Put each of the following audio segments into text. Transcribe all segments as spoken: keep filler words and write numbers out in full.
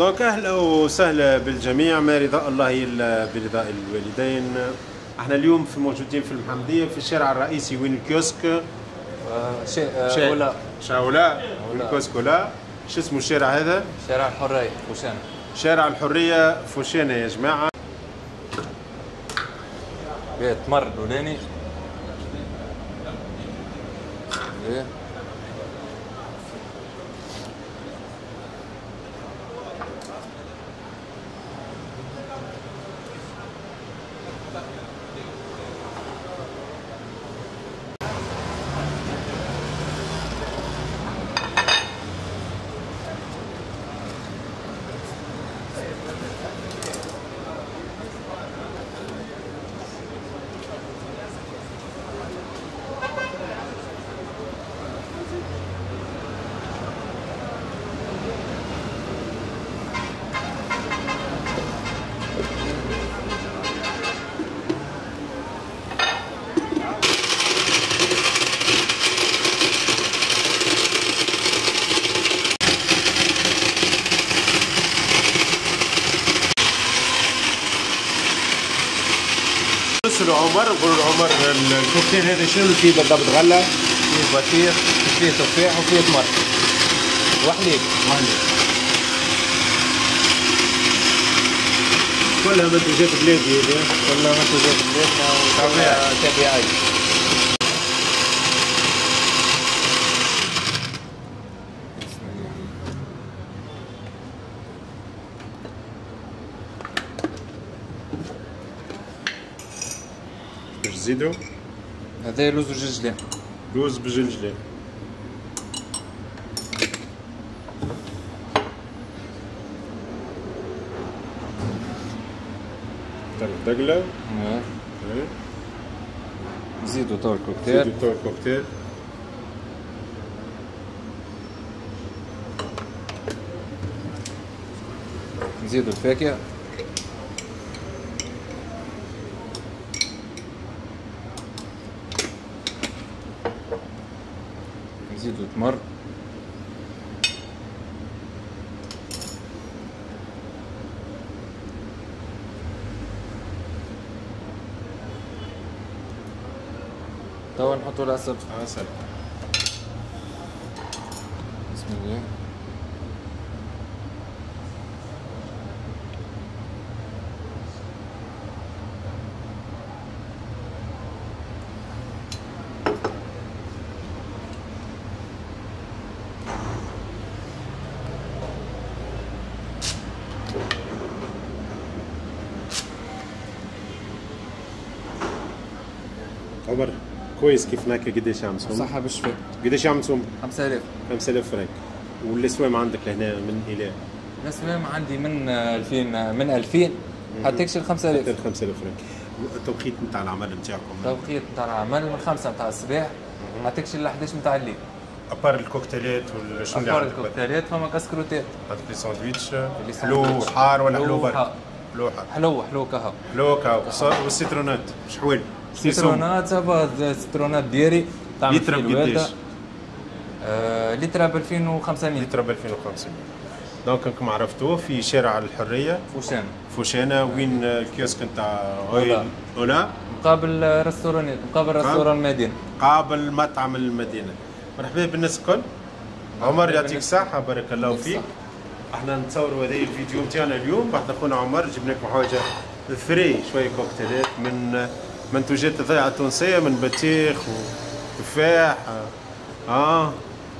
donc اهلا وسهلا بالجميع، ما رضاء الله الا برضاء الوالدين. احنا اليوم في موجودين في المحمدية في الشارع الرئيسي وين الكيوسك شيء ولا شاولا الكيوسك ولا شو اسمه الشارع هذا؟ شارع الحرية فوشانه. شارع الحرية فوشانه يا جماعة. تمر الاولاني. ايه نسألوا عمر، نقولوا لعمر الكوكتيل هذا شنو فيه بالضبط؟ غله؟ فيه بطيخ، فيه تفاح، وفيه تمر وحليب. وحليب كلها منتوجات بلادي هذه، كلها منتوجات بلادنا وكلها طبيعية. بسم الله. باش تزيدو؟ هذا لوز وجلجلان. لوز بجلجلان. دقلة. ايه. نزيدو تو الكوكتيل. نزيدو تو الكوكتيل. نزيدو الفاكهة. نزيدو التمر. توا نحطو العسل. عسل. بسم الله. عمر كويس كيف ناكل. قداش عم صوم؟ صحة بالشفاء. قداش عم تصوم؟ خمسة آلاف. خمسة آلاف فرنك. والاسوام عندك لهنا من الى؟ الاسوام عندي من ألفين، من ألفين حتى تكشي خمسة آلاف. حتى خمسة آلاف فرنك. التوقيت نتاع العمل نتاعكم؟ التوقيت نتاع العمل من خمسة نتاع الصباح حتى تكشي ل إحداش نتاع الليل. à part الكوكتيلات ولا شنو اللي à part الكوكتيلات فما كاسكروتات. عندك les sandwichs حلو حار ولا حلو برك؟ حلو حار. حلو حلو كهو. حلو كهو. والسيترونات شحوال؟ سيترونات ça va، سيترونات دياري. لتر بقداش؟ آه لتر ب ألفين وخمسمية. لتر ب ألفين وخمسمية. donc راكم عرفتوه في شارع الحرية فوشانة. فوشانة وين الكيوسك نتاع اولا؟ مقابل restaurant ات، مقابل restaurant المدينة. مقابل مطعم المدينة. مرحبا بالناس الكل. عمر يعطيك الصحة، بارك الله فيك. احنا نتصوروا هذا الفيديو نتاعنا اليوم بعد خونا عمر، جبنا لكم حاجة frais شوية كوكتيلات من منتوجات الضيعة التونسية، من بطيخ وتفاح اه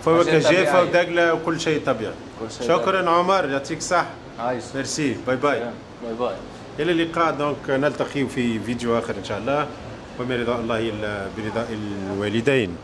فواكه جافة ودقلة وكل شيء طبيعي. شكرا طبيعي. عمر يعطيك الصحة. عايش. merci. bye bye. bye bye. الى اللقاء. donc نلتقي في فيديو اخر ان شاء الله، وما رضاء الله الا برضاء الوالدين.